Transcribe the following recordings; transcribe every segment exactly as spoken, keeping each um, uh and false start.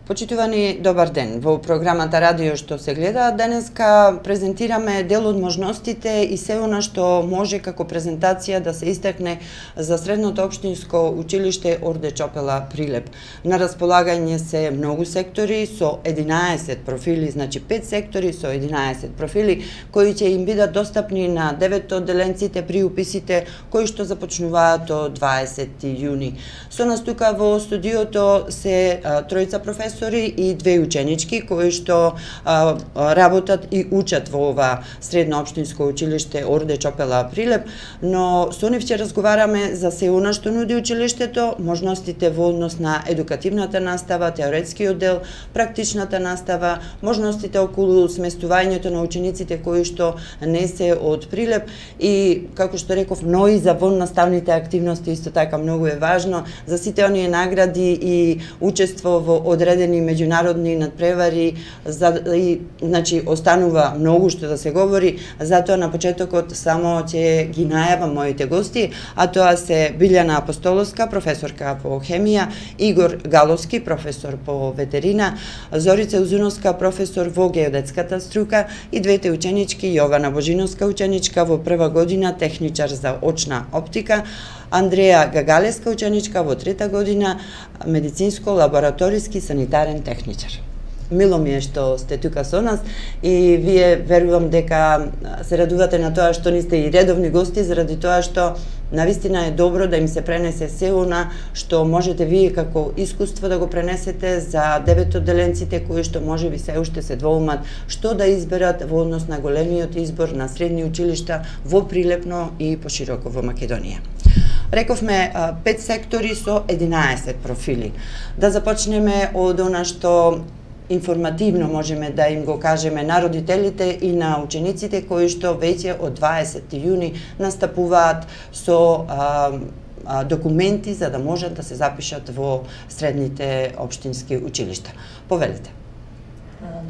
Почитувани, добар ден. Во програмата Радио што се гледа, денеска презентираме дел од можностите и се она што може како презентација да се истакне за Средното општинско училиште Орде Чопела Прилеп. На располагање се многу сектори со единаесет профили, значи пет сектори со единаесет профили, кои ќе им бидат достапни на девет одделенците при уписите кои што започнуваат од дваесети јуни. Со нас тука во студиото се а, тројца професори и две ученички кои што а, работат и учат во ова Средно општинско училиште Орде Чопела Прилеп, но со нив ќе разговараме за се она што нуди училиштето, можностите во однос на едукативната настава, теоретскиот дел, практичната настава, можностите околу сместувањето на учениците кои што не се од Прилеп и, како што реков, но и за воннаставните активности исто така многу е важно за сите оние награди и учество во одредени меѓународни надпревари, за, и, значи, останува многу што да се говори, затоа на почетокот само ќе ги најавам моите гости, а тоа се Билјана Апостоловска, професорка по хемија, Игор Галовски, професор по ветерина, Зорица Узуновска, професор во геодетската струка и двете ученички, Јована Божиновска, ученичка во прва година, техничар за очна оптика, Андреја Гагалеска, ученичка во трета година, медицинско-лабораториски санитарен техничар. Мило ми е што сте тука со нас и вие верувам дека се радувате на тоа што не сте и редовни гости, заради тоа што навистина е добро да им се пренесе се она што можете вие како искуство да го пренесете за девет одделенците кои што можеби се уште се двоумат што да изберат во однос на големиот избор на средни училишта во Прилепно и пошироко во Македонија. Рековме пет сектори со единаесет профили. Да започнеме од она што информативно можеме да им го кажеме на родителите и на учениците кои што веќе од дваесети јуни настапуваат со а, а, документи за да можат да се запишат во средните општински училишта. Повелите.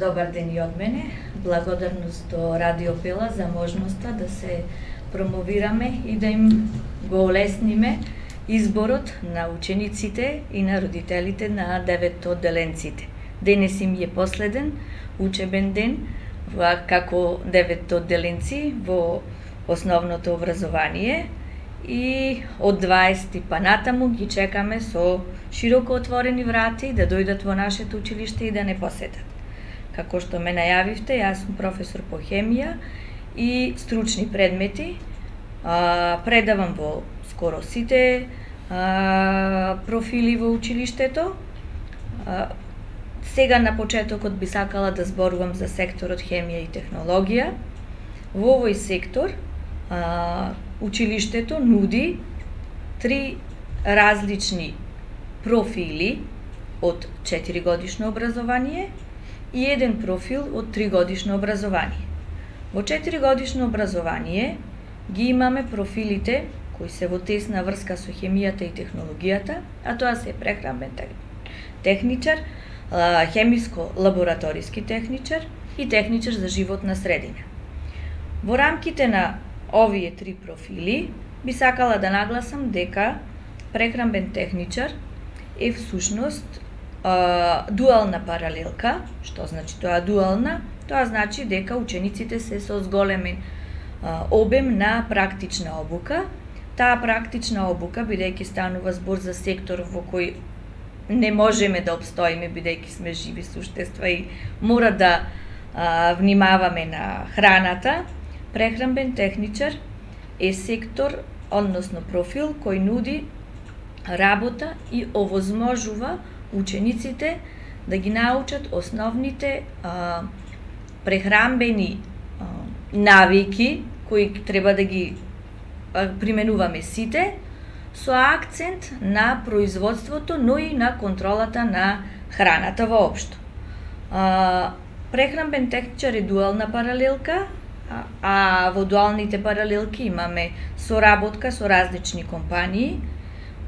Добар ден и од мене. Благодарност до Радио Пела за можноста да се промовираме и да им го олесниме изборот на учениците и на родителите на девет одделенците. Денес им е последен учебен ден како девет одделенци во основното образование и од дваесети па натаму ги чекаме со широко отворени врати да дојдат во нашето училиште и да не посетат. Како што ме најавивте, јас сум професор по хемија и стручни предмети. А, предавам во скоро сите а, профили во училиштето. А, сега на почетокот би сакала да зборувам за секторот хемија и технологија. Во овој сектор а, училиштето нуди три различни профили од четиригодишно образование и еден профил од тригодишно образование. Во четиригодишно образование ги имаме профилите кои се во тесна врска со хемијата и технологијата, а тоа се прехранбен техничар, хемиско-лабораториски техничар и техничар за животна средина. Во рамките на овие три профили би сакала да нагласам дека прехранбен техничар е всушност дуална паралелка. Што значи тоа дуална? Тоа значи дека учениците се со зголемен обем на практична обука. Таа практична обука, бидејќи станува збор за сектор во кој не можеме да обстоиме, бидејќи сме живи суштества и мора да а, внимаваме на храната, прехранбен техничар е сектор, односно профил, кој нуди работа и овозможува учениците да ги научат основните а, прехранбени а, навики кои треба да ги а, применуваме сите, со акцент на производството, но и на контролата на храната воопшто. А, прехранбен техничар е дуална паралелка, а, а во дуалните паралелки имаме соработка со различни компании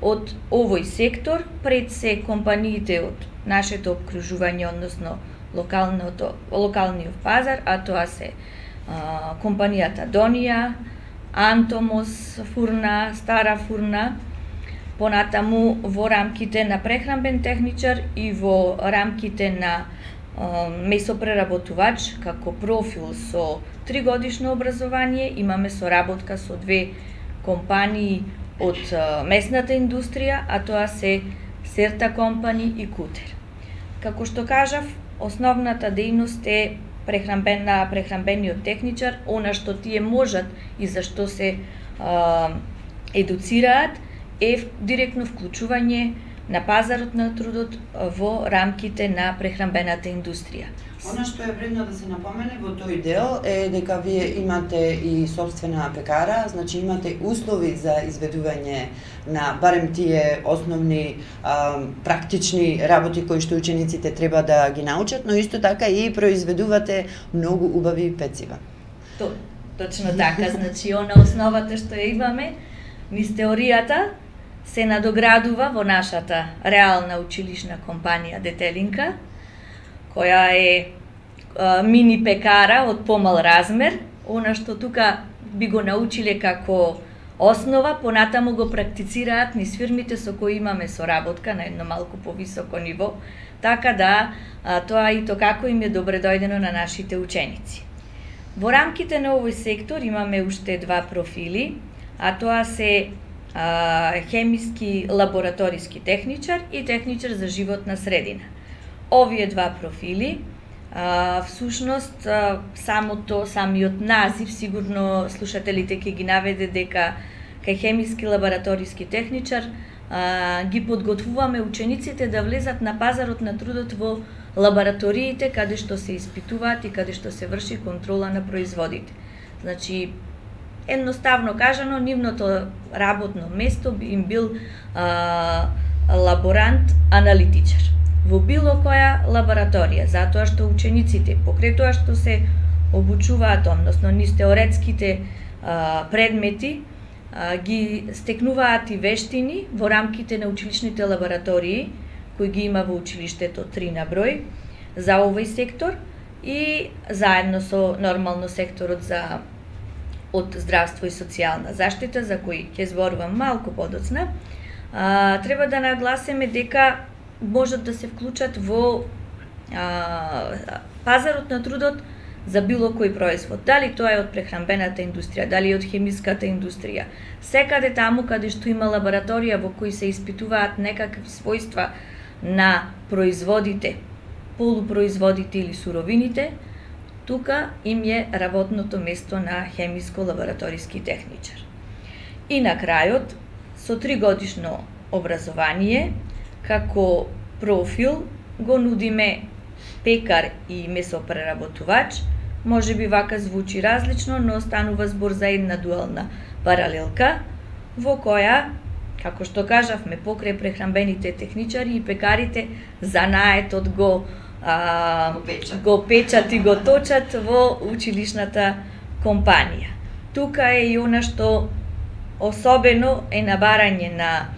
од овој сектор, пред се компаниите од нашето обкружување, односно локалното, локалниот пазар, а тоа се а, компанијата Донија, Антомос фурна, Стара фурна, Понатаму во рамките на прехранбен техничар и во рамките на месопреработувач како профил со тригодишно образование имаме соработка со две компании од месната индустрија, а тоа се Серта компани и Кутер. Како што кажав, основната дејност е прехранбена, прехранбениот техничар, она што тие можат и за што се а, едуцираат е директно вклучување на пазарот на трудот во рамките на прехранбената индустрија. Она што е вредно да се напомене во тој дел е дека вие имате и собствена пекара, значи имате услови за изведување на барем тие основни а, практични работи кои што учениците треба да ги научат, но исто така и произведувате многу убави пецива. То, точно така, значи она основата што ја имаме, низ теоријата, се надоградува во нашата реална училишна компанија Детелинка, која е а, мини пекара од помал размер. Она што тука би го научиле како основа, понатаму го практицираат низ фирмите со кои имаме соработка на едно малку повисоко ниво, така да а, тоа и то како им е добре дојдено на нашите ученици. Во рамките на овој сектор имаме уште два профили, а тоа се а, хемиски лабораториски техничар и техничар за животна средина. Овие два профили, а, всушност, а, самото, самиот назив, сигурно слушателите ќе ги наведе дека кај хемиски лабораториски техничар а, ги подготвуваме учениците да влезат на пазарот на трудот во лабораториите каде што се испитуваат и каде што се врши контрола на производите. Значи, едноставно кажано, нивното работно место би им бил а, лаборант-аналитичар во било која лабораторија, затоа што учениците, покрај тоа што се обучуваат, односно низ теоретските а, предмети, а, ги стекнуваат и вештини во рамките на училишните лаборатории, кои ги има во училиштето три на број за овој сектор и заедно со нормално секторот за од здравство и социјална заштита, за кој ќе зборувам малку подоцна. А, треба да нагласиме дека можат да се вклучат во а, пазарот на трудот за било кој производ. Дали тоа е од прехранбената индустрија, дали од хемиската индустрија. Секаде таму каде што има лабораторија во кои се испитуваат некакви својства на производите, полупроизводите или суровините, тука им е работното место на хемиско-лабораториски техничар. И на крајот, со тригодишно образование, како профил го нудиме пекар и месопреработувач. Може би вака звучи различно, но станува збор за една дуална паралелка, во која, како што кажавме, покрај прехранбените техничари и пекарите, занаетот го а, го, печат. го печат и го точат во училишната компанија. Тука е и она што особено е набарање на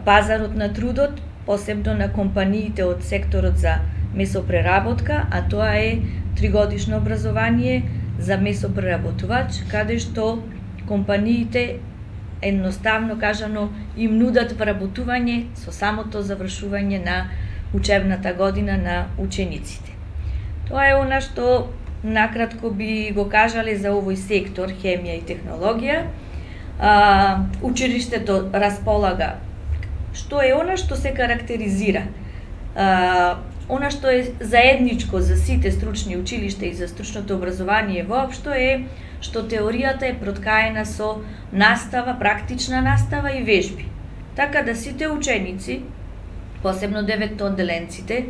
пазарот на трудот, посебно на компаниите од секторот за месопреработка, а тоа е тригодишно образование за месопреработувач, каде што компаниите едноставно кажано им нудат вработување со самото завршување на учебната година на учениците. Тоа е она што накратко би го кажале за овој сектор хемија и технологија. А, училиштето располага што е она што се карактеризира. А, она што е заедничко за сите стручни училишта и за стручното образование воопшто е што теоријата е проткаена со настава, практична настава и вежби. Така да сите ученици, посебно деветоодделенците,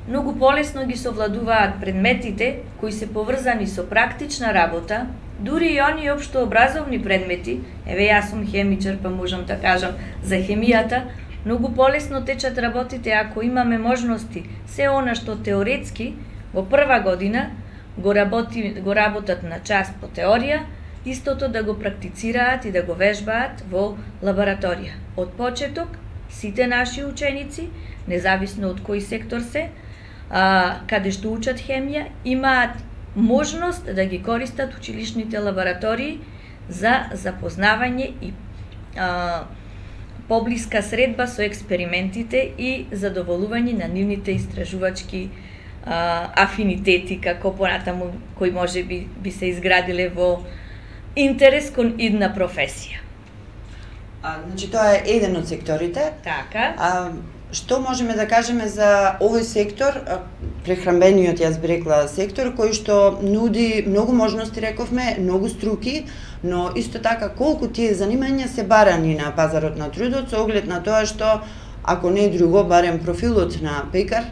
многу полесно ги совладуваат предметите кои се поврзани со практична работа, дури и оние општообразовни предмети, еве јас сум хемичар па можам да кажам за хемијата, многу полесно течат работите ако имаме можности се она што теоретски во прва година го работи го работат на час по теорија, истото да го практицираат и да го вежбаат во лабораторија. Од почеток сите наши ученици, независно од кој сектор се, а, каде што учат хемија, имаат можност да ги користат училишните лаборатории за запознавање и а, поблиска средба со експериментите и задоволување на нивните истражувачки а, афинитети, како понатаму кои може би, би се изградиле во интерес кон идна професија. А, значи, тоа е еден од секторите. Така. А, што можеме да кажеме за овој сектор, прехранбениот, јас би рекла, сектор, кој што нуди многу можности, рековме, многу струки, но исто така колку тие занимања се барани на пазарот на трудот, со оглед на тоа што, ако не друго, барем профилот на пекар,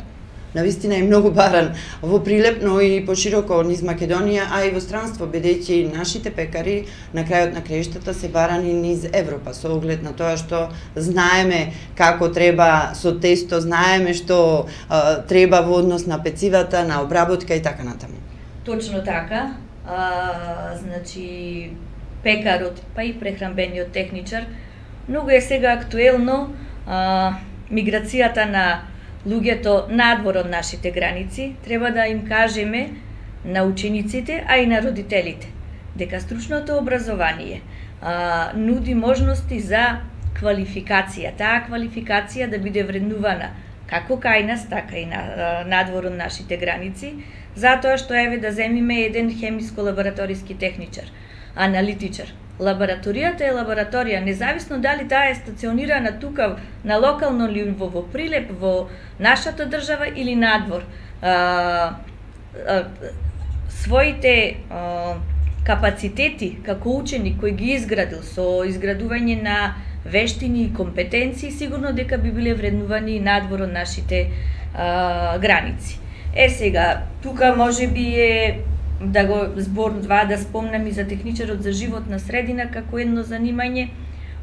навистина е многу баран во Прилеп, но и пошироко низ Македонија, а и во странство, бидејќи нашите пекари на крајот на краиштата се барани низ Европа, со оглед на тоа што знаеме како треба со тесто, знаеме што а, треба во однос на пецивата, на обработка и така натаму. Точно така. А, значи, пекарот, па и прехранбениот техничар, многу е сега актуелно а, миграцијата на луѓето надвор од нашите граници. Треба да им кажеме на учениците, а и на родителите, дека стручното образование а, нуди можности за квалификација. Таа квалификација да биде вреднувана како кај нас, така и на, а, надвор од нашите граници, затоа што еве да земиме еден хемиско-лабораториски техничар, аналитичар. Лабораторијата е лабораторија, независно дали таа е стационирана тука на локално ниво во Прилеп, во нашата држава или надвор. А, а, своите а, капацитети како ученик кој ги изградил со изградување на вештини и компетенции, сигурно дека би биле вреднувани надвор од нашите а, граници. Е сега, тука може би е да го зборува, да спомнам и за техничарот за животна средина како едно занимање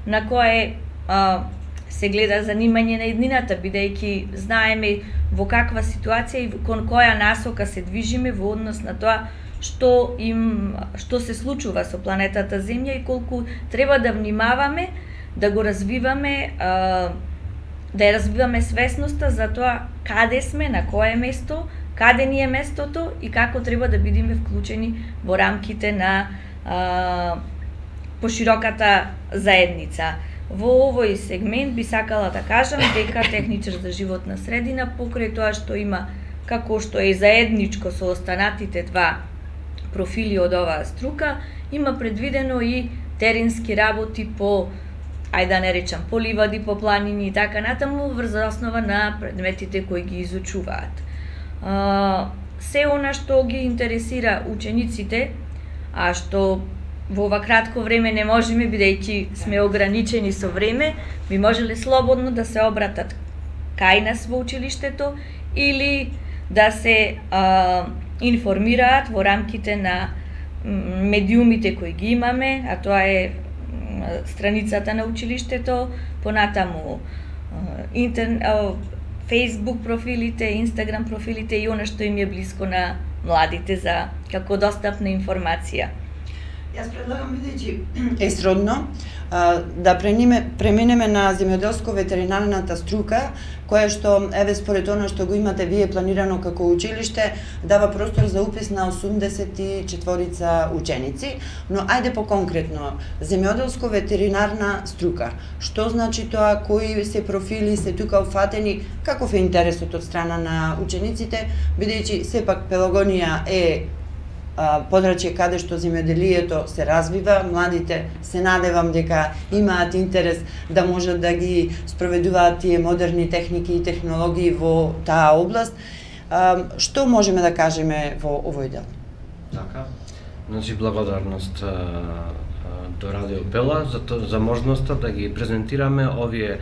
на кое а, се гледа занимање на еднината, бидејќи знаеме во каква ситуација и кон која насока се движиме во однос на тоа што им што се случува со планетата Земја и колку треба да внимаваме, да го развиваме, а, да ја развиваме свесноста за тоа каде сме, на кое место, каде ни е местото и како треба да бидеме вклучени во рамките на а, пошироката заедница. Во овој сегмент би сакала да кажам дека техничар за животна средина, покрај тоа што има како што е заедничко со останатите два профили од оваа струка, има предвидено и теренски работи по, ајде да не речам, по ливади, по планини и така натаму, врз основа на предметите кои ги изучуваат. Uh, се она што ги интересира учениците, а што во ова кратко време не можеме, бидејќи сме ограничени со време, би можеле слободно да се обратат кај нас во училиштето или да се uh, информираат во рамките на медиумите кои ги имаме, а тоа е страницата на училиштето, понатаму uh, интернет, uh, Facebook профилите, Instagram профилите и она што им е блиско на младите за како достапна информација. Јас предлагам, бидејќи е сродно, да преминеме на земјоделско-ветеринарната струка, која што, еве според она што го имате вие планирано како училиште, дава простор за упис на осумдесет и четворица ученици, но ајде по-конкретно, земјоделско-ветеринарна струка. Што значи тоа, кои се профили се тука уфатени, каков е интересот од страна на учениците, бидејќи сепак Пелагонија е подрачје каде што земјоделието се развива, младите се надевам дека имаат интерес да можат да ги спроведуваат тие модерни техники и технологии во таа област. Што можеме да кажеме во овој дел? Така. Значи благодарност до Радио Пела за то, за можноста да ги презентираме овие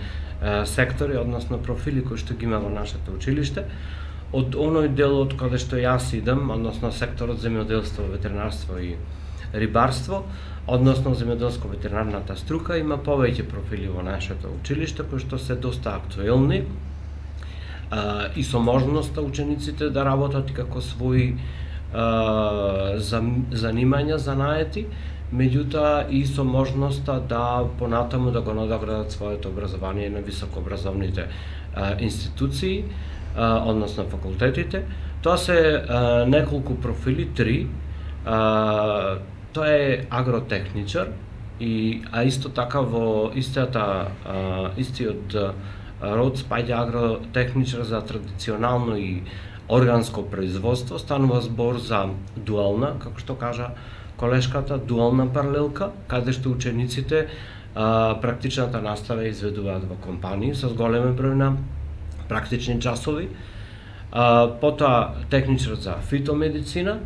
сектори, односно профили кои што ги има во нашето училиште. Од оној дел од каде што јас идам, односно секторот земјоделство, ветеринарство и рибарство, односно земјоделско-ветеринарната струка, има повеќе профили во нашето училиште кои што се доста актуелни а, и со можноста учениците да работат како своји а, занимања, занаети, меѓутоа и со можноста да понатаму да го надоградат своето образование на високообразовните а, институции, односно факултетите. Тоа се а, неколку профили, три. А, тоа е агротехничар, и а исто така во истата а, истиот род спаѓа агротехничар за традиционално и органско производство. Станува збор за дуална, како што кажа колешката, дуална паралелка, каде што учениците а, практичната настава изведуваат во компании со големе број на практични часови. А, потоа техничар за фитомедицина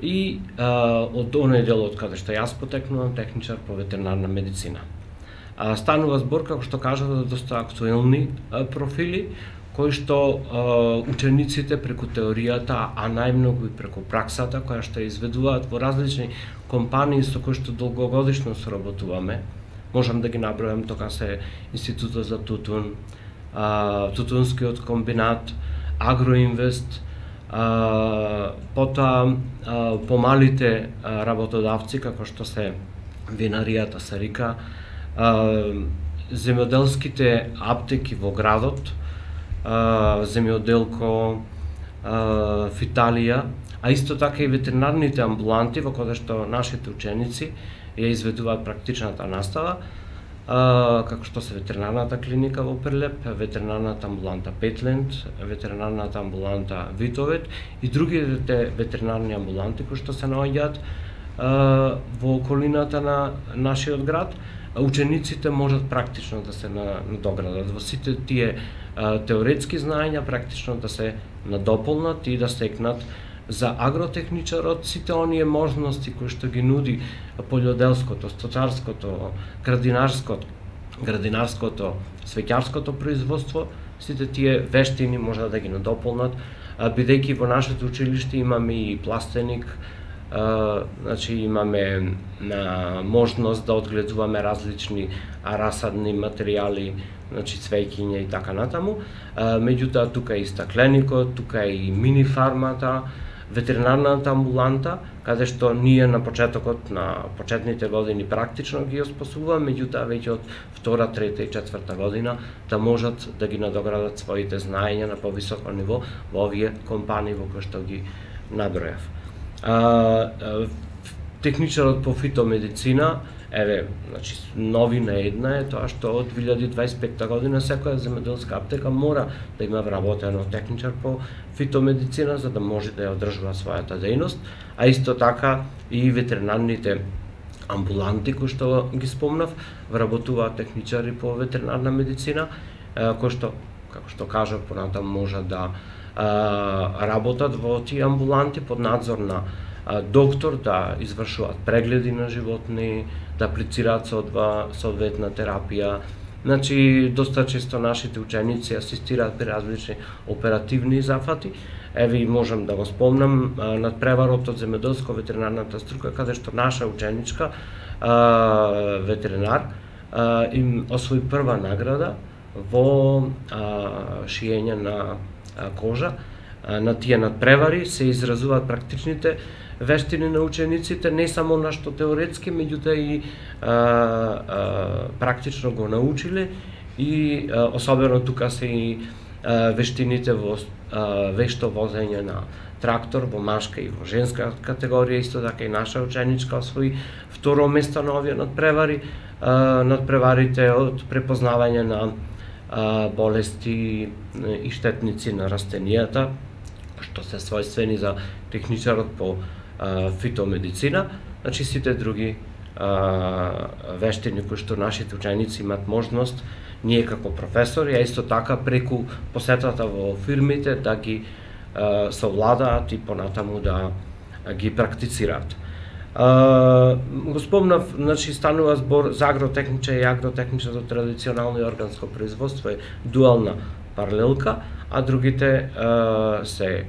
и а, од оној дел од каде што јас потекнувам, техничар по ветеринарна медицина. А, станува збор, како што кажа, за доста актуелни а, профили, кои што а, учениците преку теоријата, а најмногу и преку праксата, која што изведуваат во различни компании со кои што долгогодишно соработуваме. Можам да ги набројам, тоа се Институтот за тутун, а, Тутунскиот комбинат, Агроинвест, а, потоа а, помалите а, работодавци, како што се винаријата Сарика, а, земјоделските аптеки во градот, а, земјоделко, а, Фиталија, а исто така и ветеринарните амбуланти во кои што нашите ученици ја изведуваат практичната настава, а, како што се ветеринарната клиника во Прилеп, ветеринарната амбуланта Петленд, ветеринарната амбуланта Витовет и другите ветеринарни амбуланти кои што се наоѓаат во околината на нашиот град. Учениците можат практично да се надоградат во сите тие а, теоретски знаења, практично да се надополнат и да стекнат за агротехничарот сите оние можности кои што ги нуди полјоделското, стотарското, градинарското, градинарското, свеќарското производство, сите тие вештини можат да ги надополнат, бидејќи во нашето училиште имаме и пластеник, Uh, значи имаме uh, можност да одгледуваме различни расадни материјали, значи цвеќиња и така натаму. Uh, меѓутоа тука е и стакленикот, тука е и мини фармата, ветеринарната амбуланта, каде што ние на почетокот на почетните години практично ги оспособуваме, меѓутоа веќе од втора, трета и четврта година да можат да ги надоградат своите знаења на повисоко ниво во овие компании во кои што ги набројав. А, а, техничарот по фитомедицина, еве, значи новина една е тоа што од две илјади дваесет и петта година секоја земјоделска аптека мора да има вработено техничар по фитомедицина за да може да ја одржува својата дејност, а исто така и ветеринарните амбуланти кои што ги спомнав, вработуваат техничари по ветеринарна медицина, кои што, како што кажав, понатаму може да работат во тие амбуланти под надзор на доктор, да извршуваат прегледи на животни, да аплицираат соодветна терапија. Значи, доста често нашите ученици асистираат при различни оперативни зафати. Еве, можам да го спомнам надпреварот од земјоделско-ветеринарната струка, каде што наша ученичка, ветеринар, им освои прва награда во шиење на кожа. На тие надпревари се изразуваат практичните вештини на учениците, не само на што теоретски, меѓутоа и а, а, практично го научиле и а, особено тука се и а, вештините во а, вешто возење на трактор во машка и во женска категорија, исто така и наша ученичка освои второ место на овие надпревари, а, надпреварите од препознавање на болести и штетници на растенијата, што се својствени за техничарот по а, фитомедицина. Значи сите други а, вештини кои што нашите ученици имат можност, ние како професори, а исто така преку посетата во фирмите да ги а, совладаат и понатаму да а, ги практицираат. Uh, го спомнав, значи станува збор за агротехничар и агротехничар за традиционално и органско производство е дуална паралелка, а другите uh, се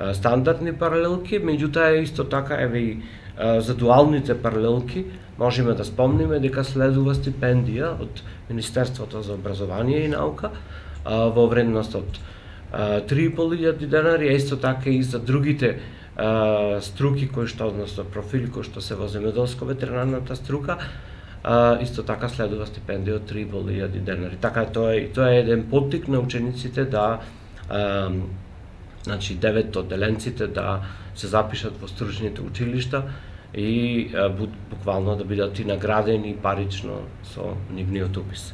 uh, стандардни паралелки, меѓутоа исто така еве и uh, за дуалните паралелки можеме да спомниме дека следува стипендија од Министерството за образование и наука uh, во вредност од uh, три и пол илјади денари, а исто така и за другите Uh, струки кои што, односно профили кои што се во земјоделско-ветеринарната струка, uh, исто така следува стипендија од три и пол илјади денари. Така тоа е, тоа е еден поттик на учениците да uh, значи девет одделенците да се запишат во стручните училишта и буквално да бидат и наградени парично со нивниот упис.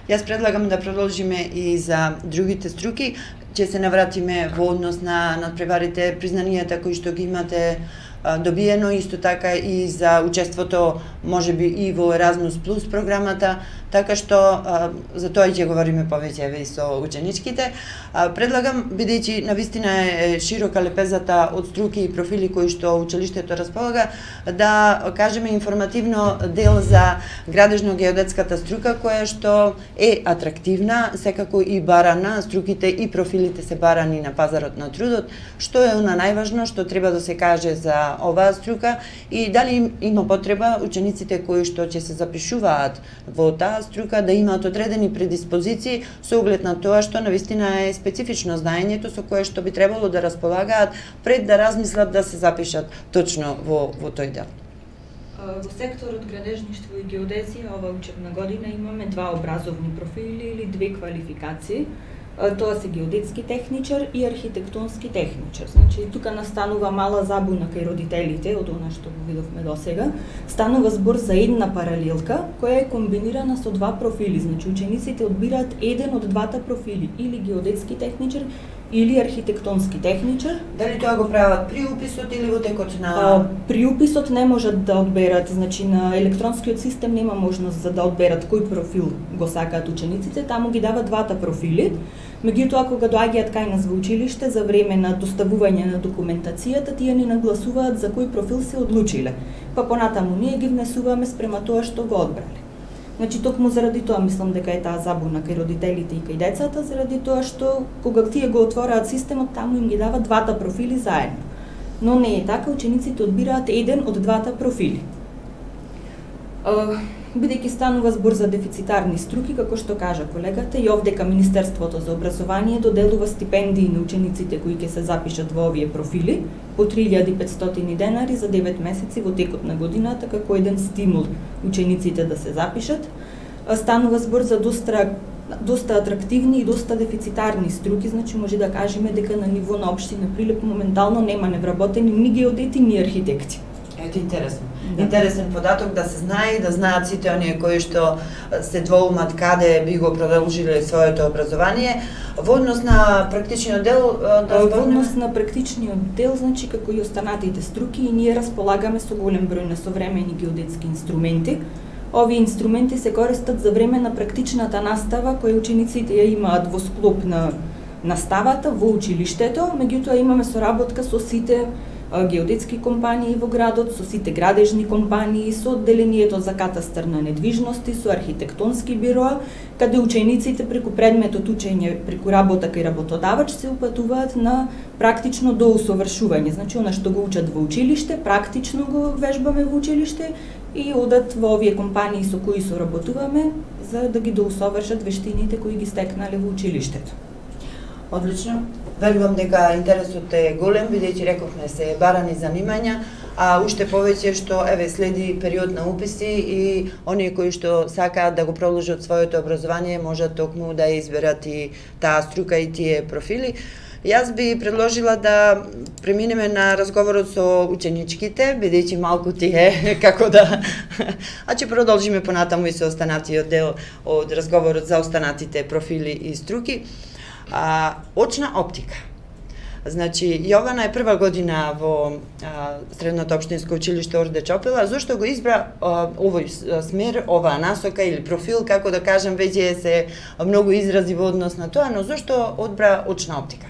Јас предлагам да продолжиме и за другите струки. Ќе се навратиме во однос на надпреварите, признанијата кои што ги имате добиено, исто така и за учеството можеби и во Еразмус Плюс програмата, така што а, за тоа ќе говориме повеќе еве и со ученичките. А, предлагам, бидејќи навистина е широка лепезата од струки и профили кои што училиштето располага, да кажеме информативно дел за градежно-геодетската струка, која што е атрактивна, секако и барана, струките и профилите се барани на пазарот на трудот. Што е она најважно што треба да се каже за оваа струка и дали има потреба учениците кои што ќе се запишуваат во таа струка да имаат одредени предиспозиции со оглед на тоа што навистина е специфично знаењето со кое што би требало да располагаат пред да размислат да се запишат точно во во тој дел. Во секторот градежништво и геодезија ова учебна година имаме два образовни профили или две квалификации. Тоа се геодетски техничар и архитектонски техничар. Значи, тука настанува мала забуна кај родителите од она што го видовме досега. Станува збор за една паралелка која е комбинирана со два профили. Значи, учениците одбираат еден од двата профили, или геодетски техничар или архитектонски техничар. Дали тоа го прават при уписот или во текот на... А, при уписот не можат да одберат, значи на електронскиот систем нема можност за да одберат кој профил го сакаат учениците, таму ги дава двата профили. Меѓутоа, кога доаѓаат кај нас во училиште за време на доставување на документацијата, тие ни нагласуваат за кој профил се одлучиле. Па понатаму ние ги внесуваме спрема тоа што го одбрале. Значи, токму заради тоа мислам дека е таа забуна кај родителите и кај децата, заради тоа што кога тие го отвораат системот, таму им ги дава двата профили заедно. Но не е така, учениците одбираат еден од двата профили. Бидејќи станува збор за дефицитарни струки, како што кажа колегата, и овдека Министерството за образование доделува стипендии на учениците кои ќе се запишат во овие профили по три илјади и петстотини денари за девет месеци во текот на годината, како еден стимул учениците да се запишат. Станува збор за доста доста атрактивни и доста дефицитарни струки, значи може да кажеме дека на ниво на општина Прилеп моментално нема невработени ни геодети ни архитекти. Ето интересно. Да. Интересен податок да се знае и да знаат сите оние кои што се двоумат каде би го продолжиле своето образование. Во однос на практичниот дел, да Во однос на практичниот дел, значи како и останатите струки, и ние располагаме со голем број на современи геодетски инструменти. Овие инструменти се користат за време на практичната настава која учениците ја имаат во склоп на наставата во училиштето, меѓутоа имаме соработка со сите геодетски компании во градот, со сите градежни компании, со одделението за катастар на недвижности, со архитектонски бироа, каде учениците преку предметот учење, преку работа кај работодавач се упатуваат на практично доусовршување. Значи, она што го учат во училиште, практично го вежбаме во училиште и одат во овие компании со кои соработуваме за да ги доусовршат вештините кои ги стекнале во училиштето. Одлично. Верувам дека интересот е голем, бидејќи рековме се барани занимања, а уште повеќе што еве следи период на уписи и оние кои што сакаат да го продолжат своето образование можат токму да изберат и таа струка и тие профили. Јас би предложила да преминеме на разговорот со ученичките, бидејќи малку ти е како да... А ќе продолжиме понатаму и со останатиот дел од разговорот за останатите профили и струки. А, очна оптика. Значи, Јована е прва година во а, Средното општинско училиште Орде Чопела. Зошто го избра а, овој смер, оваа насока или профил, како да кажем, веќе се многу изрази во однос на тоа, но зошто одбра очна оптика?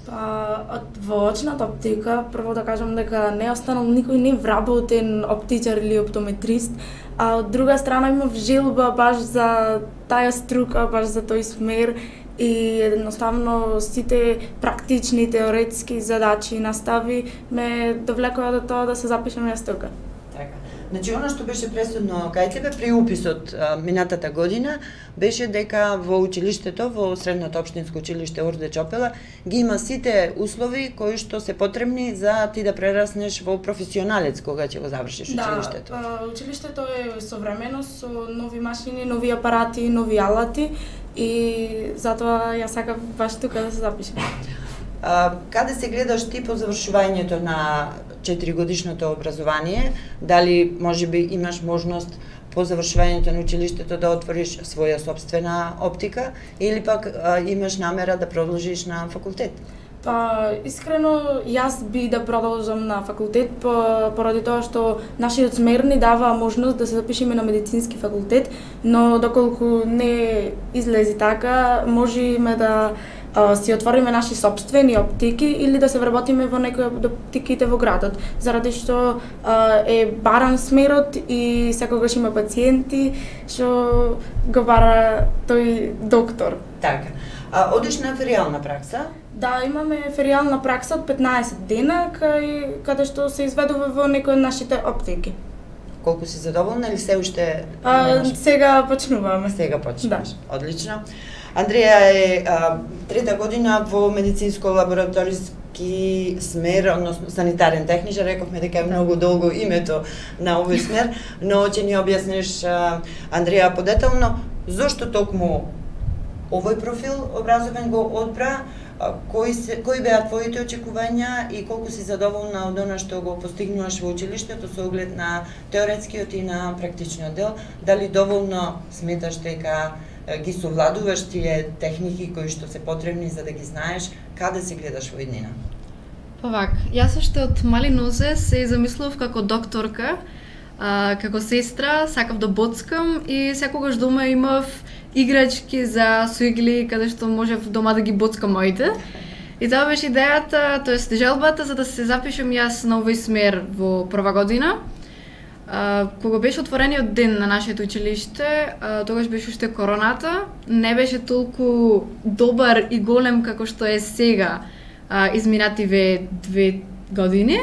Па, во очната оптика, прво да кажам дека не останал никој не вработен оптичар или оптометрист, а од друга страна имав желба баш за таа струка, баш за тој смер, и едноставно сите практични теоретски задачи и настави ме довлекоа до тоа да се запишам јас тука. Така. Значи, оно што беше пресудно кај тебе при уписот а, минатата година беше дека во училиштето, во Средното општинско училиште Орде Чопела, ги има сите услови кои што се потребни за ти да прераснеш во професионалец кога ќе го завршиш училиштето. Да, училиштето е современо со нови машини, нови апарати, нови алати и затоа ја сакав баш тука да се запишам. А, каде се гледаш ти по завршувањето на четиригодишното образование, дали можеби имаш можност по завршувањето на училиштето да отвориш своја собствена оптика или пак а, имаш намера да продолжиш на факултет? Па, искрено, јас би да продолжам на факултет, по, поради тоа што нашиот смер ни дава можност да се запишеме на медицински факултет, но доколку не излези така, можеме да а, си отвориме наши собствени оптики или да се вработиме во некои од оптиките во градот, заради што а, е баран смерот и секогаш има пациенти што го бара тој доктор. Така. А одиш на феријална пракса? Да, имаме феријална пракса од петнаесет дена, кај каде што се изведува во некои од нашите оптики. Колку си задоволна или се уште А, немаш? сега почнуваме. Сега почнуваш. Да. Одлично. Андреја е а, трета година во медицинско-лабораториски смер, односно санитарен техничар, рековме дека е многу долго името на овој смер, но ќе ни објасниш, а, Андреја, подетално, зошто токму овој профил образовен го одбра, кои се кои беа твоите очекувања и колку си задоволна од она што го постигнуваш во училиштето со оглед на теоретскиот и на практичниот дел, дали доволно сметаш дека ги совладуваш тие техники кои што се потребни за да ги знаеш каде се гледаш во иднина? Па вак, јас уште од мали нозе се замислував како докторка, а, како сестра, сакав да боцкам и секогаш дома имав играчки за суигли каде што можев дома да ги боцкам моите. И тоа беше идејата, тоест желбата за да се запишам јас на овој смер во прва година. А, кога беше отворениот ден на нашето училиште, а, тогаш беше уште короната, не беше толку добар и голем како што е сега а, изминативе две години.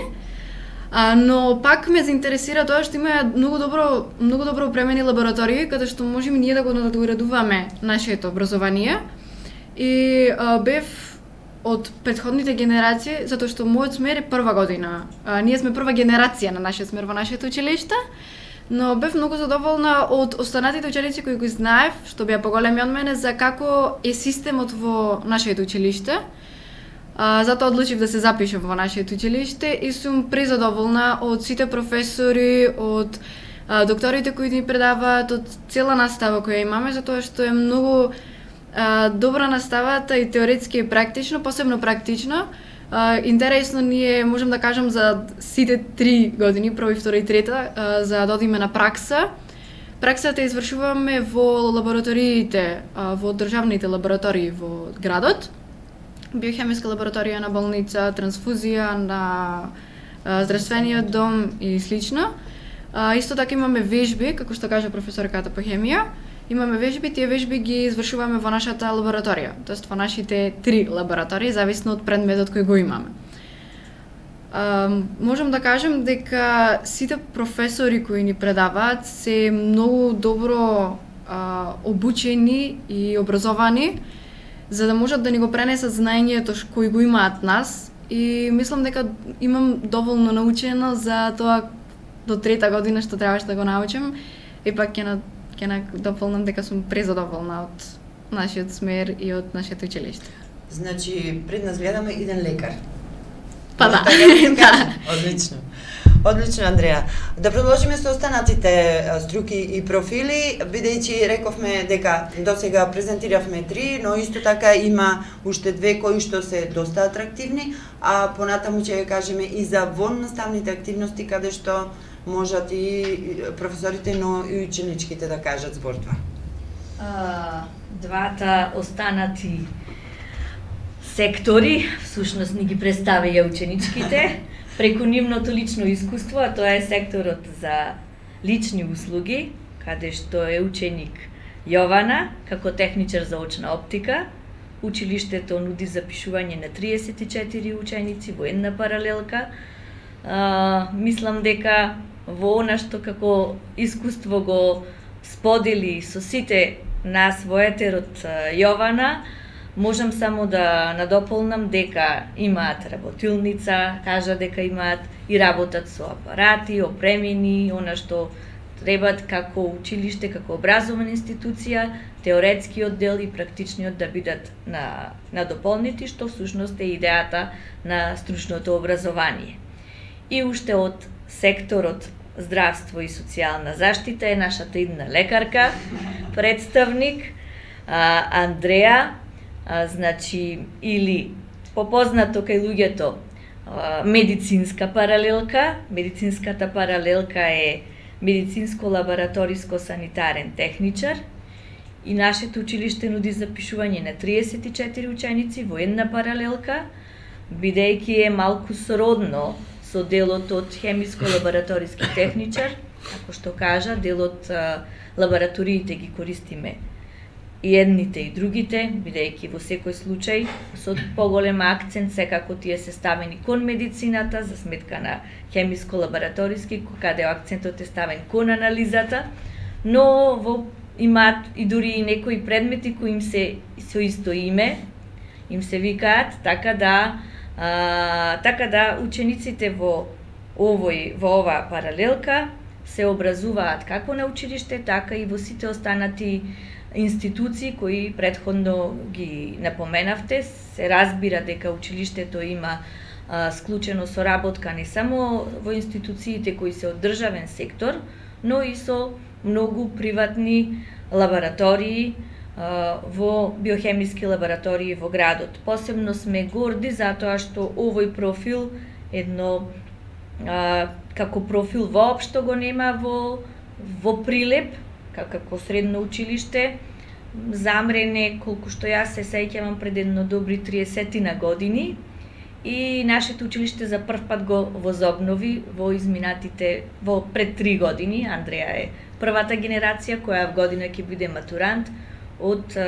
А, но пак ме заинтересира тоа што има многу добро, многу добро опремени лаборатории каде што можеме ние да го надоградуваме нашето образование. И а, бев од претходните генерации, затоа што мојот смер е прва година. А, ние сме прва генерација на нашиот смер во нашето училиште, но бев многу задоволна од останатите ученици кои го знаев, што беа поголеми од мене, за како е системот во нашето училиште. А, затоа одлучив да се запишам во нашето училиште и сум презадоволна од сите професори, од а, докторите кои ни предаваат, од цела настава која имаме, затоа што е многу а, добра наставата и теоретски и практично, посебно практично. А, интересно ние можам да кажам за сите три години, прва, втора и трета, а, за да одиме на пракса. Праксата извршуваме во лабораториите, а, во државните лаборатории во градот. Биохемиска лабораторија на болница, трансфузија на а, здравствениот дом и слично. А, исто така имаме вежби, како што кажа професорката по хемија. Имаме вежби, тие вежби ги извршуваме во нашата лабораторија, тоест во нашите три лаборатории, зависно од предметот кој го имаме. А, можам да кажам дека сите професори кои ни предаваат се многу добро а, обучени и образовани, за да можат да ни го пренесат знаењето кои го имаат нас, и мислам дека имам доволно научено за тоа до трета година што требаше да го научам, и пак ќе на ќе на дополнам дека сум презадоволна од нашиот смер и од нашето училиште. Значи, пред нас гледаме иден лекар. Па да. Да. Одлично. Одлично, Андреја. Да продолжиме со останатите струки и профили, бидејќи рековме дека досега презентиравме три, но исто така има уште две кои што се доста атрактивни, а понатаму ќе кажеме и за воннаставните активности каде што можат и професорите, но и ученичките да кажат збор два. А, двата останати сектори, всушност ни ги представија ученичките, преку нивното лично искуство, а тоа е секторот за лични услуги, каде што е ученик Јована, како техничар за очна оптика. Училиштето нуди запишување на триесет и четири ученици во една паралелка. А, мислам дека во она што како искуство го сподели со сите нас во етерот Јована, можам само да надополнам дека имаат работилница, кажа дека имаат и работат со апарати, опремени, она што требат како училиште, како образовна институција, теоретскиот дел и практичниот да бидат на, надополнети, што всушност е идејата на стручното образование. И уште од секторот здравство и социјална заштита е нашата идна лекарка, представник а, Андреа, а, значи или попознато кај луѓето а, медицинска паралелка. Медицинската паралелка е медицинско-лабораториско-санитарен техничар и нашето училиште нуди запишување на триесет и четири ученици во една паралелка, бидејќи е малку сродно со делот од хемиско-лабораториски техничар, како што кажа, делот а, лабораториите ги користиме и едните и другите, бидејќи во секој случај со поголем акцент секако тие се ставени кон медицината за сметка на хемиско-лабораториски, каде акцентот е ставен кон анализата, но во имаат и дури и некои предмети кои им се со исто име, им се викаат, така да а, така да учениците во овој во оваа паралелка се образуваат како на училиште, така и во сите останати институции кои претходно ги напоменавте. Се разбира дека училиштето има а, склучено соработка не само во институциите кои се од државен сектор, но и со многу приватни лаборатории а, во биохемиски лаборатории во градот. Посебно сме горди затоа што овој профил едно а, како профил воопшто го нема во во Прилеп, како средно училиште. Замрене, колку што јас се сеќавам, пред едно добри триесет на години, и нашето училиште за прв пат го возобнови во изминатите во пред три години. Андреа е првата генерација која в година ќе биде матурант од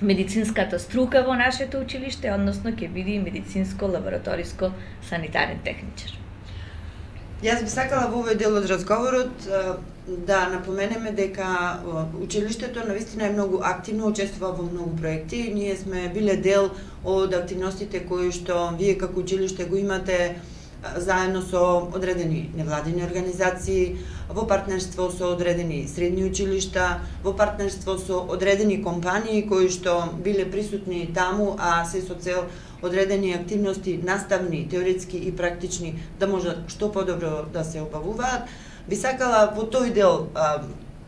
медицинската струка во нашето училиште, односно ќе биде медицинско-лабораториско-санитарен техничар. Јас би сакала во овој дел од разговорот да напоменеме дека училиштето навистина е многу активно, учествува во многу проекти. Ние сме биле дел од активностите кои што вие како училиште го имате заедно со одредени невладини организации, во партнерство со одредени средни училишта, во партнерство со одредени компании кои што биле присутни таму, а се со цел одредени активности, наставни, теоретски и практични, да може што подобро да се обавуваат. Би сакала во тој дел а,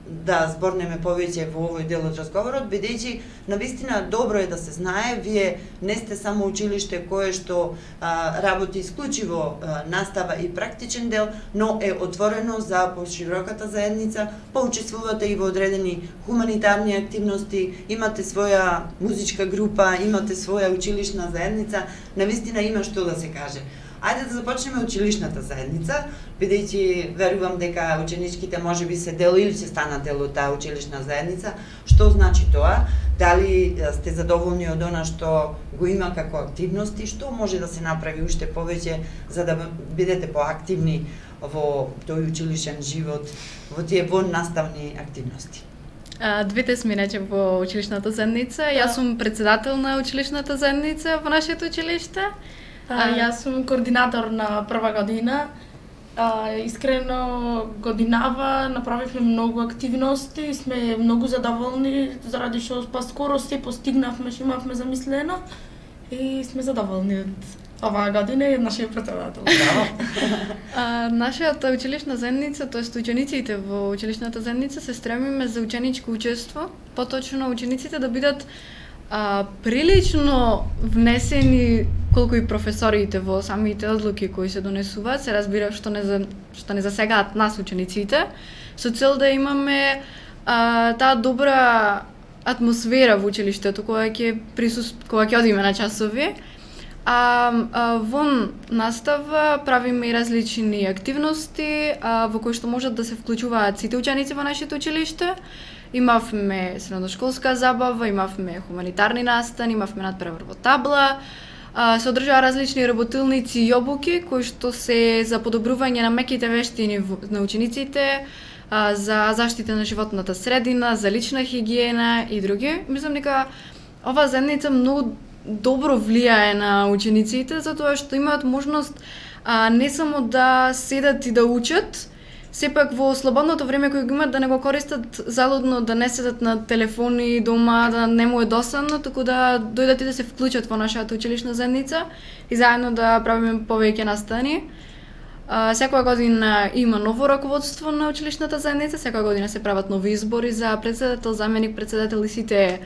да зборнеме повеќе во овој дел од разговорот, бидејќи навистина добро е да се знае, вие не сте само училиште кое што а, работи исклучиво а, настава и практичен дел, но е отворено за пошироката заедница, поучествувате и во одредени хуманитарни активности, имате своја музичка група, имате своја училишна заедница, навистина има што да се каже. Ајде да започнеме училишната заедница, бидејќи верувам дека ученичките можеби се дел или ќе станат дел од таа училишна заедница. Што значи тоа? Дали сте задоволни од она што го има како активности? Што може да се направи уште повеќе за да бидете поактивни во тој училишен живот, во тие воннаставни активности? А, двете сме иначе во училишната заедница. Јас сум председател на училишната заедница во нашето училиште. А, јас сум координатор на прва година. А, искрено годинава направивме многу активности, сме многу задоволни заради што па скоро се постигнавме што имавме замислено и сме задоволни од оваа година и од нашиот председател. А, нашата училишна заедница, тоест учениците во училишната заедница се стремиме за ученичко учество, поточно учениците да бидат а, прилично внесени колку и професориите во самите одлуки кои се донесуваат, се разбира што не за, што не засегаат нас учениците, со цел да имаме а, таа добра атмосфера во училиштето која ќе присуст која ќе одиме на часови. А, а вон настава правиме и различни активности а, во кои што можат да се вклучуваат сите ученици во нашето училиште. Имавме средношколска забава, имавме хуманитарни настани, имавме надпревар во табла, а, се одржаа различни работилници и обуки кои што се за подобрување на меките вештини на учениците, а, за заштита на животната средина, за лична хигиена и други. Мислам дека оваа заедница многу добро влијае на учениците, затоа што имаат можност а, не само да седат и да учат, сепак во слободното време кој го имаат да не го користат залудно, да не седат на телефони дома, да не му е досадно, туку да дојдат и да се вклучат во нашата училишна заедница и заедно да правиме повеќе настани. А, секоја година има ново раководство на училишната заедница, секоја година се прават нови избори за председател, заменик председател и сите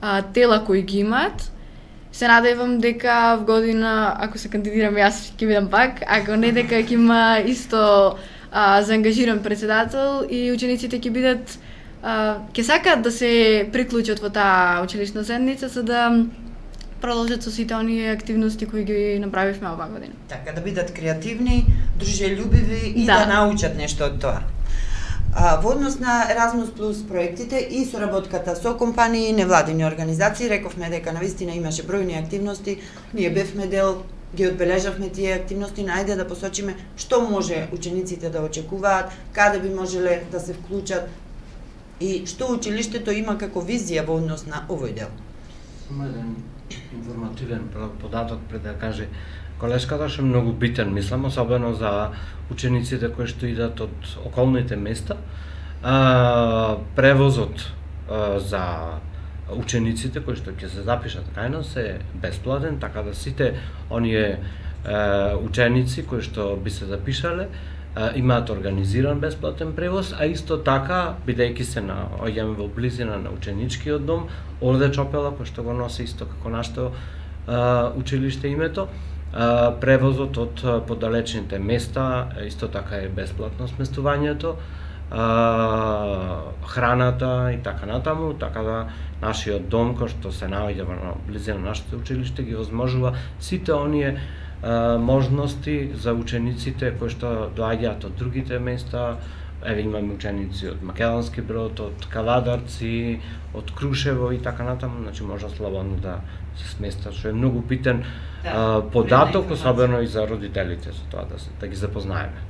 а, тела кои ги имаат. Се надевам дека в година, ако се кандидирам јас, ќе бидам пак, ако не дека ќе има исто а, заангажиран председател и учениците ќе бидат а, ќе сакаат да се приклучат во таа училишна заедница за да продолжат со сите оние активности кои ги направивме оваа година. Така да бидат креативни, дружелюбиви и да, да научат нешто од тоа. А, во однос на Erasmus Plus проектите и соработката со компании и невладини организации, рековме дека навистина имаше бројни активности, ние бевме дел, ги одбележавме тие активности, најде да посочиме што може учениците да очекуваат, каде би можеле да се вклучат и што училиштето има како визија во однос на овој дел. Само еден информативен податок пред да каже колешката, што е многу битен, мислам, особено за учениците кои што идат од околните места. А, превозот а, за учениците кои што ќе се запишат кај нас е бесплатен, така да сите оние а, ученици кои што би се запишале а, имаат организиран бесплатен превоз, а исто така, бидејќи се наоѓаме во близина на ученичкиот дом, Орде Чопела, кој што го носи исто како нашето а, училиште името, а, превозот од подалечните места, исто така е бесплатно сместувањето, а, храната и така натаму, така да нашиот дом кој што се наоѓа во близина на нашето училиште ги возможува сите оние а, можности за учениците кои што доаѓаат од другите места. Еве имаме ученици од Македонски Брод, од Каладарци, од Крушево и така натаму, значи може слободно да се сместат, што е многу битен да, а, податок, особено и за родителите со тоа да, се, да ги запознаеме.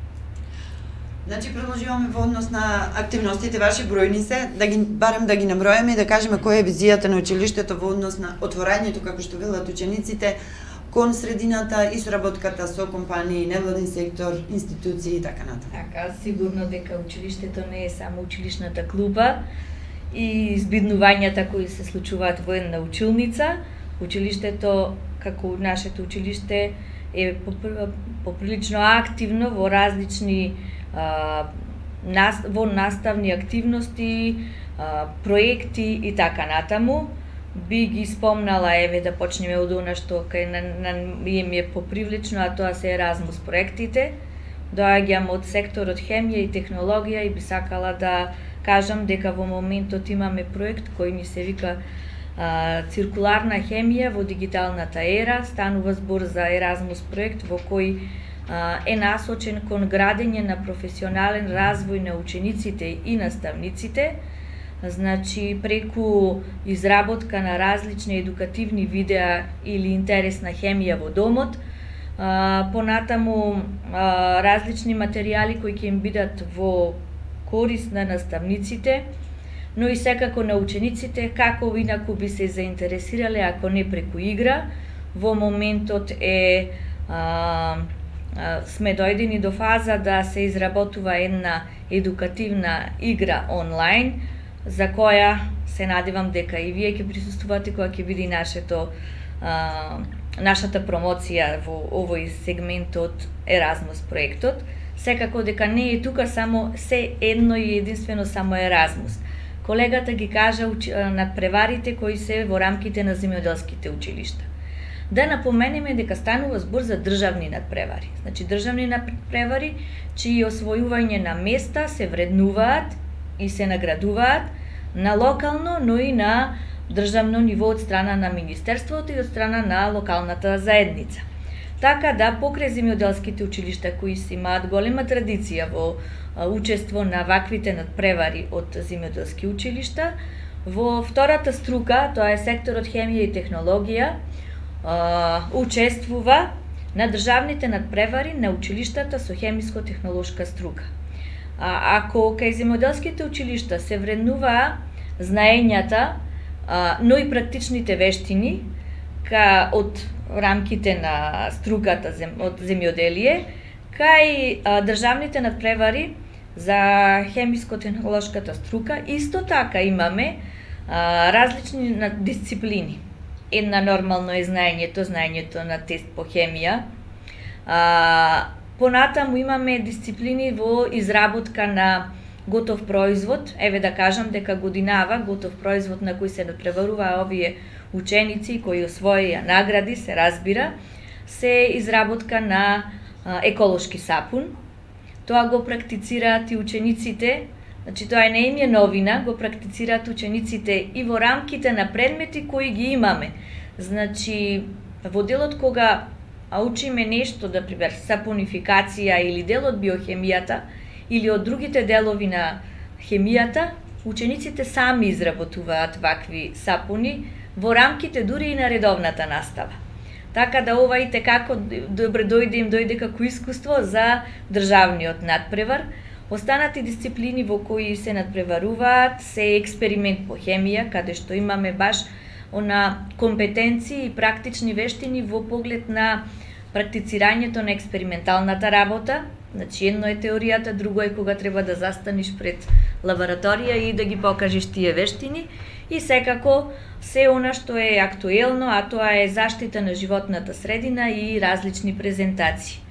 Значи продолжуваме во однос на активностите ваши, бројни се, да ги барем да ги наброиме и да кажеме која е визијата на училиштето во однос на отворањето, како што велат учениците, кон средината и соработката со компании, невладен сектор, институции и така натаму. Така, сигурно дека училиштето не е само училишната клуба и збиднувањата кои се случуваат во една училница. Училиштето, како нашето училиште, е поприлично активно во различни а, нас, во наставни активности, а, проекти и така натаму. Би ги спомнала, еве да почнеме од она што кај на, на ми е попривлично, а тоа се Erasmus проектите. Доаѓам од секторот хемија и технологија и би сакала да кажам дека во моментот имаме проект кој ни се вика а, циркуларна хемија во дигиталната ера. Станува збор за Erasmus проект во кој а, е насочен кон градење на професионален развој на учениците и наставниците. Значи, преку изработка на различни едукативни видеа или интересна хемија во домот, а, понатаму а, различни материјали кои ќе им бидат во корист на наставниците, но и секако на учениците, како инаку би се заинтересирале ако не преку игра. Во моментот е а, а, сме дојдени до фаза да се изработува една едукативна игра онлайн, за која се надевам дека и вие ќе присуствувате кога ќе биде нашето а, нашата промоција во овој сегмент од Erasmus проектот. Секако дека не е тука само се едно и единствено само Erasmus. Колегата ги кажа надпреварите кои се во рамките на земјоделските училишта. Да напоменеме дека станува збор за државни надпревари. Значи државни надпревари чии освојување на места се вреднуваат и се наградуваат на локално, но и на државно ниво од страна на Министерството и од страна на локалната заедница. Така да покрај земјоделските училишта кои си имаат голема традиција во учество на ваквите надпревари од земјоделски училишта, во втората струка, тоа е секторот хемија и технологија, учествува на државните надпревари на училиштата со хемиско-технолошка струка. А, ако кај земјоделските училишта се вреднуваа знаењата, а, но и практичните вештини ка, од рамките на струката зем, од земјоделие, кај а, државните надпревари за хемиско-технолошката струка, исто така имаме а, различни дисциплини. Една нормално е знаењето, знаењето на тест по хемија, а, Понатаму имаме дисциплини во изработка на готов производ. Еве да кажам дека годинава готов производ на кој се надпреваруваа овие ученици кои освоија награди, се разбира, се изработка на а, еколошки сапун. Тоа го практицираат и учениците, значи тоа не им е новина, го практицираат учениците и во рамките на предмети кои ги имаме. Значи, во делот кога учиме нешто, да пример сапунификација или дел од биохемијата или од другите делови на хемијата, учениците сами изработуваат вакви сапуни во рамките дури и на редовната настава. Така да ова и како добре дојде им дојде како искуство за државниот надпревар. Останати дисциплини во кои се надпреваруваат се експеримент по хемија, каде што имаме баш на компетенции и практични вештини во поглед на практицирањето на експерименталната работа. Значи, едно е теоријата, друго е кога треба да застаниш пред лабораторија и да ги покажеш тие вештини. И секако, се она што е актуелно, а тоа е заштита на животната средина и различни презентации.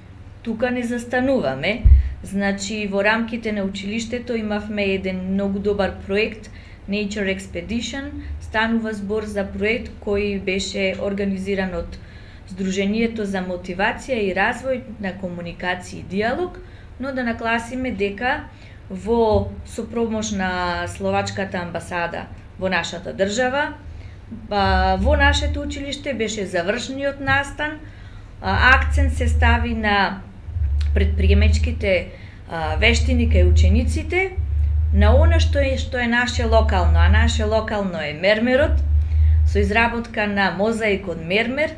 Тука не застануваме. Значи, во рамките на училиштето имавме еден многу добар проект, Nature Expedition. Станува збор за проект кој беше организиран од Сдруженијето за мотивација и развој на комуникација и диалог, но да нагласиме дека во сопромош на Словачката амбасада во нашата држава, во нашето училиште беше завршниот настан, акцент се стави на предприемачките вештини кај учениците, на она што е што е наше локално, а наше локално е мермерот, со изработка на мозаик од мермер.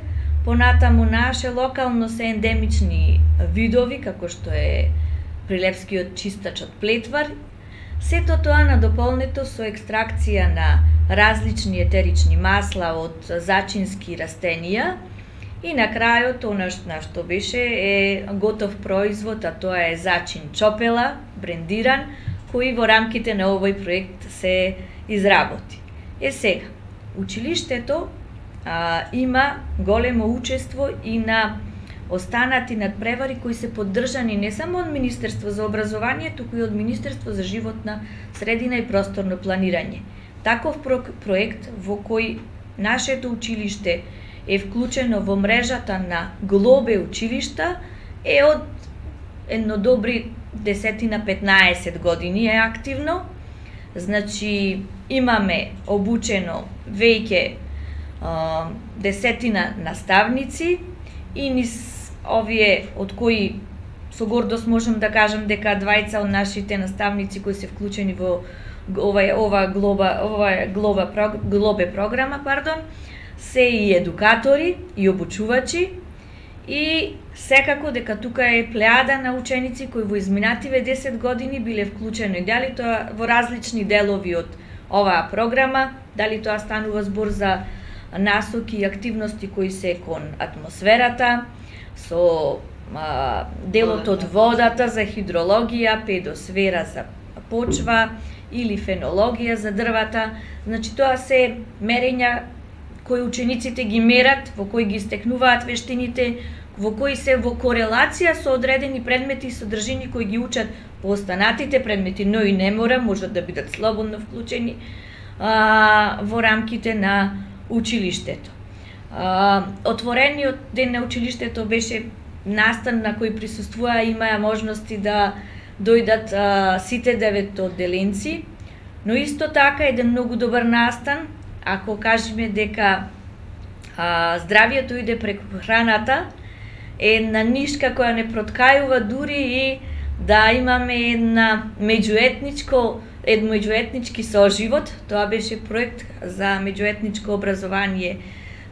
Понатаму наше локално се ендемични видови, како што е прилепскиот чистач од плетвар. Сето тоа надополнето со екстракција на различни етерични масла од зачински растенија. И на крајот, она што беше е готов производ, а тоа е зачин чопела, брендиран, кој во рамките на овој проект се изработи. Е сега, училиштето а, има големо учество и на останати надпревари кои се поддржани не само од Министерство за образование, туку и од Министерство за животна средина и просторно планирање. Таков про проект во кој нашето училиште е вклучено во мрежата на Глобе училишта е од едно добри десетина-петнаесет години е активно. Значи, имаме обучено веќе а, десетина наставници и низ овие од кои со гордост можем да кажам дека двајца од нашите наставници кои се вклучени во ова ова глоба ова глоба глобе програма, пардон, се и едукатори и обучувачи. И секако дека тука е плеада на ученици кои во изминативе десет години биле вклучени дали тоа во различни делови од оваа програма, дали тоа станува збор за насоки и активности кои се кон атмосферата, со а, делот од водата за хидрологија, педосфера за почва или фенологија за дрвата. Значи тоа се мерења кои учениците ги мерат, во кои ги стекнуваат вештините, во кои се во корелација со одредени предмети и содржини кои ги учат по останатите предмети, но и не мора, можат да бидат слободно вклучени а, во рамките на училиштето. А, отворениот ден на училиштето беше настан на кој присуствуваа, имаа можности да дојдат а, сите девет одделенци, но исто така еден многу добар настан. Ако кажеме дека а, здравието иде преку храната, е една нишка која не проткајува дури и да имаме една меѓуетничко, ед меѓуетнички соживот. Тоа беше проект за меѓуетничко образование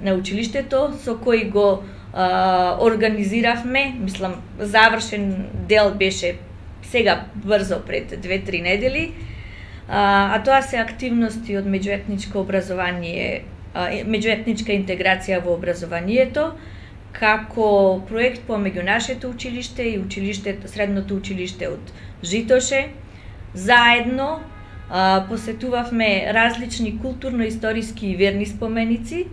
на училиштето, со кој го а, организиравме, мислам, завршен дел беше сега брзо пред две-три недели. А, а тоа се активности од меѓуетничко образование, а, меѓуетничка интеграција во образованието, како проект помеѓу нашето училиште и училиштето, средното училиште од Житоше. Заедно а, посетувавме различни културно-историски и верни споменици,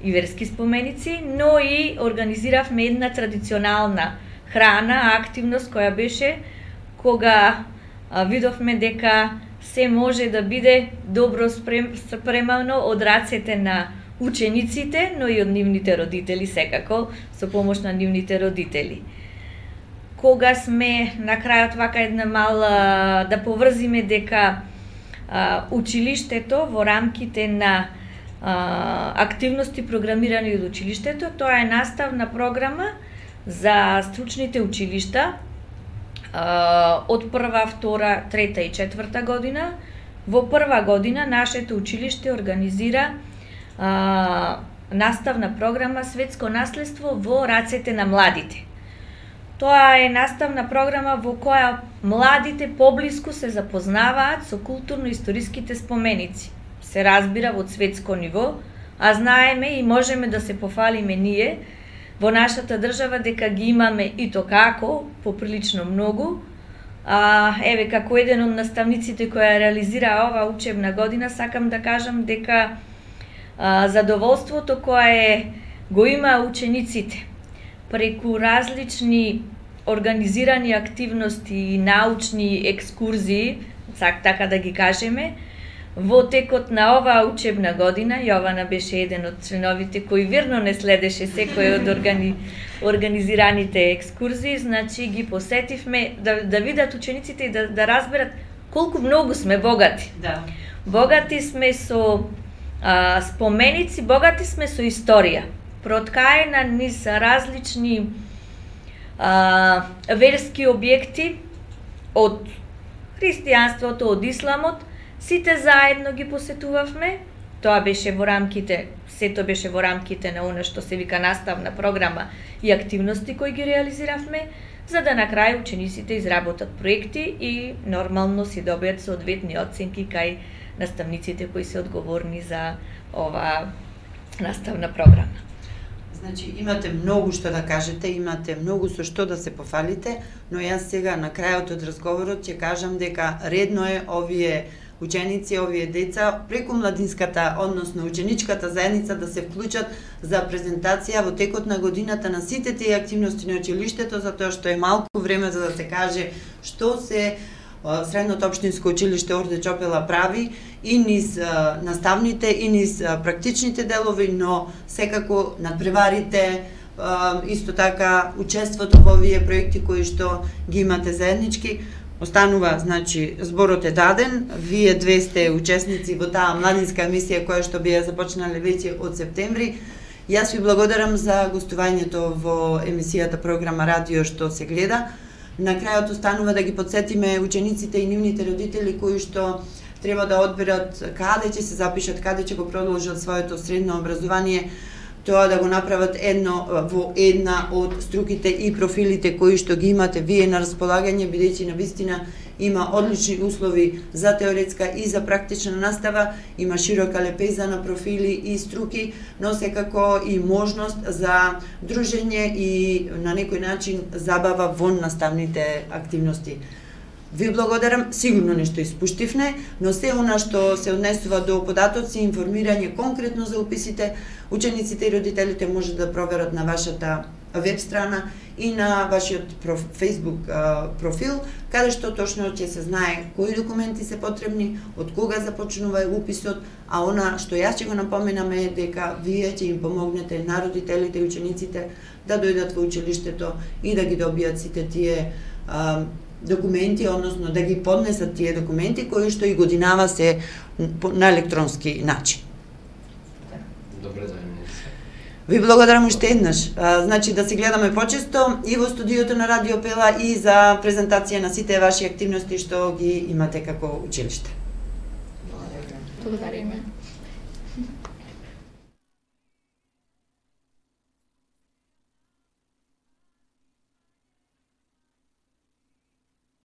и верски споменици, но и организиравме една традиционална храна, активност која беше кога а, видовме дека се може да биде добро спрем, спремано од рацете на учениците, но и од нивните родители, секако, со помош на нивните родители. Кога сме на крајот вака една мала да поврзиме дека а, училиштето во рамките на а, активности програмирани од училиштето, тоа е наставна програма за стручните училишта а, од прва, втора, трета и четврта година. Во прва година нашето училиште организира а, наставна програма Светско наследство во рацете на младите. Тоа е наставна програма во која младите поблиску се запознаваат со културно-историските споменици. Се разбира во светско ниво, а знаеме и можеме да се пофалиме ние во нашата држава дека ги имаме и то како, поприлично многу. А, еве, како еден од наставниците која реализира ова учебна година, сакам да кажам дека а, задоволството кое го има учениците преку различни организирани активности и научни екскурзии, сак така да ги кажеме, во текот на оваа учебна година, Јована беше еден од членовите кој верно не следеше секој од органи, организираните екскурзии, значи ги посетивме да, да видат учениците и да, да разберат колку многу сме богати. Да. Богати сме со а, споменици, богати сме со историја. Проткаена низ различни а, верски објекти од христијанството, од исламот, сите заедно ги посетувавме. Тоа беше во рамките, сето беше во рамките на она што се вика наставна програма и активности кои ги реализиравме, за да на крај учениците изработат проекти и нормално си добијат соодветни оценки кај наставниците кои се одговорни за оваа наставна програма. Значи, имате многу што да кажете, имате многу со што да се пофалите, но јас сега на крајот од разговорот ќе кажам дека редно е овие ученици, овие деца, преку младинската, односно ученичката заедница да се вклучат за презентација во текот на годината на сите тие активности на училиштето, затоа што е малку време за да се каже што се Средното општинско училиште Орде Чопела прави и низ а, наставните и низ а, практичните делови, но секако надпреварите, а, исто така учеството во овие проекти кои што ги имате заеднички. Останува, значи, зборот е даден, вие две сте учесници во таа младинска емисија која што би ја започнале веќе од септември. Јас ви благодарам за гостувањето во емисијата програма Радио што се гледа. На крајот останува да ги подсетиме учениците и нивните родители кои што треба да одберат каде ќе се запишат, каде ќе го продолжат своето средно образование, тоа да го направат едно во една од струките и профилите кои што ги имате вие на располагање, бидејќи навистина има одлични услови за теоретска и за практична настава, има широка лепеза на профили и струки, но секако и можност за дружење и на некој начин забава во наставните активности. Ви благодарам, сигурно нешто испуштивне, но се она што се однесува до податоци, информирање конкретно за уписите, учениците и родителите може да проверат на вашата веб страна и на вашиот проф, Facebook а, профил, каде што точно ќе се знае кои документи се потребни, од кога започнува уписот, а она што јас ќе го напоменам е дека вие ќе им помогнете на родителите и учениците да дојдат во училиштето и да ги добијат сите тие а, документи, односно да ги поднесат тие документи кои што и годинава се на електронски начин. Добре да е. Ви благодарам уште еднаш. А, значи да се гледаме почесто и во студиото на Радио Пела и за презентација на сите ваши активности што ги имате како училиште. Благодариме.